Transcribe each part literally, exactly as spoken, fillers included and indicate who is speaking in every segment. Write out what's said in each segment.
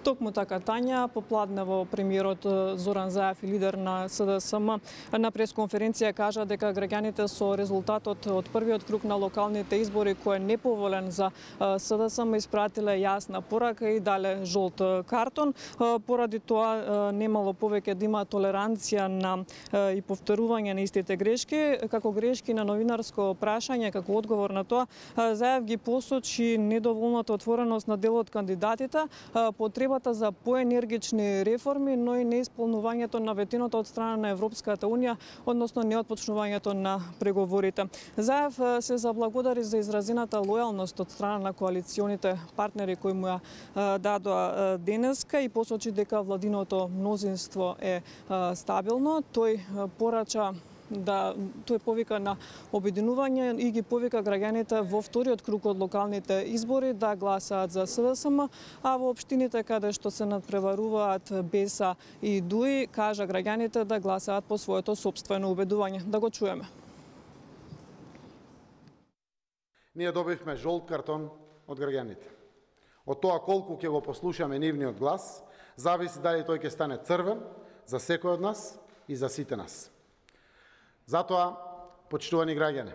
Speaker 1: Токму така, Тања, попладнево премиерот Зоран Заев и лидер на С Д С М на пресконференција кажа дека граѓаните со резултатот од првиот круг на локалните избори кој е неповолен за С Д С М испратиле јасна порака и дале жолт картон. Поради тоа немало повеќе да има толеранција на и повторување на истите грешки. Како грешки на новинарско прашање, како одговор на тоа, Заев ги посочи недоволната отвореност на дел од кандидатите, потребата за поенергични реформи, но и неисполнувањето на ветеното од страна на Европската Унија, односно неотпочнувањето на преговорите. Заев се заблагодари за изразената лојалност од страна на коалиционите партнери кои му ја дадоа денеска и посочи дека владиното мнозинство е стабилно. Тој порача да тој повика на обединување и ги повика граѓаните во вториот круг од локалните избори да гласаат за С Д С М, а во општините каде што се надпреваруваат Беса и Дуи, кажа граѓаните да гласаат по своето сопствено убедување. Да го чуеме.
Speaker 2: Ние добивме жолт картон од граѓаните. Од тоа колку ќе го послушаме нивниот глас, зависи дали тој ќе стане црвен за секој од нас и за сите нас. Затоа, почитувани граѓани,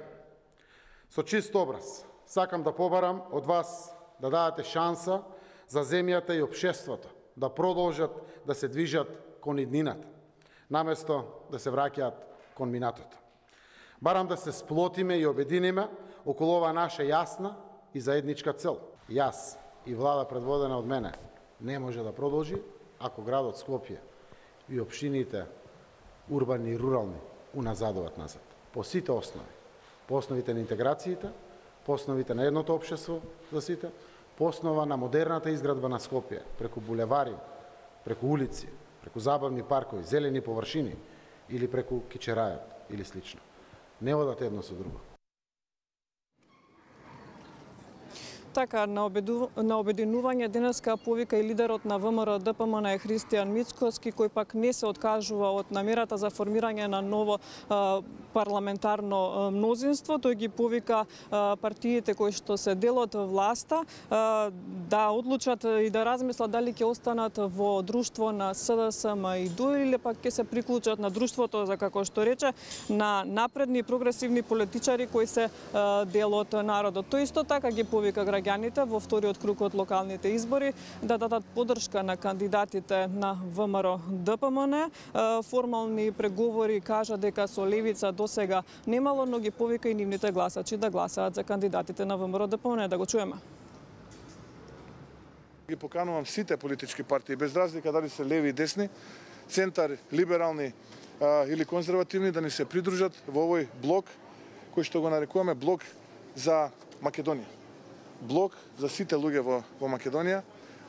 Speaker 2: со чист образ, сакам да побарам од вас да дадете шанса за земјата и општеството да продолжат да се движат кон иднината, наместо да се враќаат кон минатото. Барам да се сплотиме и обединиме околу оваа наша јасна и заедничка цел. Јас и влада предводена од мене не може да продолжи ако градот Скопје и општините урбани и рурални уназадуваат назад. По сите основи. По основите на интеграциите, по основите на едното општество за сите, по основа на модерната изградба на Скопје, преку булевари, преку улици, преку забавни паркови, зелени површини или преку кичерајот или слично. Не одат едно со друго.
Speaker 1: Така, на, обеду... на обединување денеска повика и лидерот на В М Р Д П М Н Христијан Мицкоски, кој пак не се откажува од намерата за формирање на ново а, парламентарно мнозинство. Тој ги повика а, партиите кои што се дел од власта а, да одлучат и да размислат дали ќе останат во друштво на С Д С М и Дуи или пак ќе се приклучат на друштвото, за како што рече, на напредни прогресивни политичари кои се а, дел од народот. Тој исто така ги повика граѓаните во вториот круг од локалните избори да дадат поддршка на кандидатите на В М Р Д П М Н. Формални преговори кажа дека со левица досега немало, но ги повика и нивните гласачи да гласаат за кандидатите на В М Р Д П М Н. Да го чуеме.
Speaker 3: Ги поканувам сите политички партии, без разлика дали се леви и десни, центар, либерални а, или конзервативни, да ни се придружат во овој блок, кој што го нарекуваме блок за Македонија. Блок за сите луѓе во, во Македонија,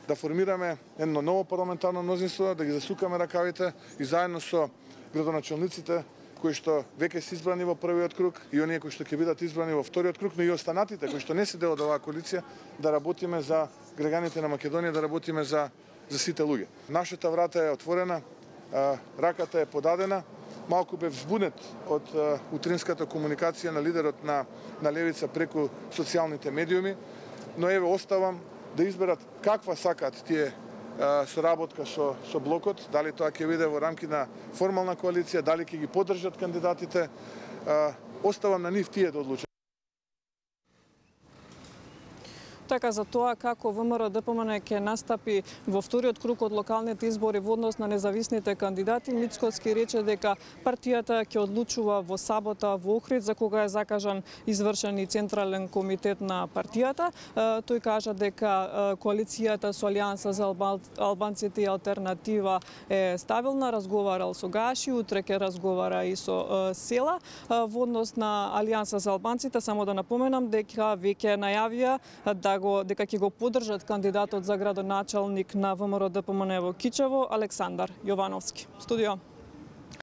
Speaker 3: да формираме едно ново парламентарно мнозинство, да ги засукаме ракавите и заедно со градоначалниците кои што веќе се избрани во првиот круг и оние кои што ќе бидат избрани во вториот круг, но и останатите кои што не се дел од оваа коалиција, да работиме за граѓаните на Македонија, да работиме за, за сите луѓе. Нашата врата е отворена, раката е подадена. Малку бев збунет од утринската комуникација на лидерот на, на левица преку социјалните медиуми, но еве оставам да изберат каква сакат тие соработка со, со блокот, дали тоа ќе биде во рамки на формална коалиција, дали ќе ги поддржат кандидатите, оставам на нив тие да одлучат.
Speaker 1: Така, за тоа како В М Р Д П М Н ќе настапи во вториот круг од локалните избори во однос на независните кандидати, Мицкоски рече дека партијата ќе одлучува во сабота во Охрид, за кога е закажан извршен и централен комитет на партијата. Тој кажа дека коалицијата со Алијанса за албанците и алтернатива е стабилна, разговарал со Гаши, утре ќе разговара и со Села. Во однос на Алијанса за албанците, само да напоменам дека веќе најавија да го, дека ќе го поддржат кандидатот за градоначалник на В М Р Д П М Н во Кичево, Александар Јовановски. Студио.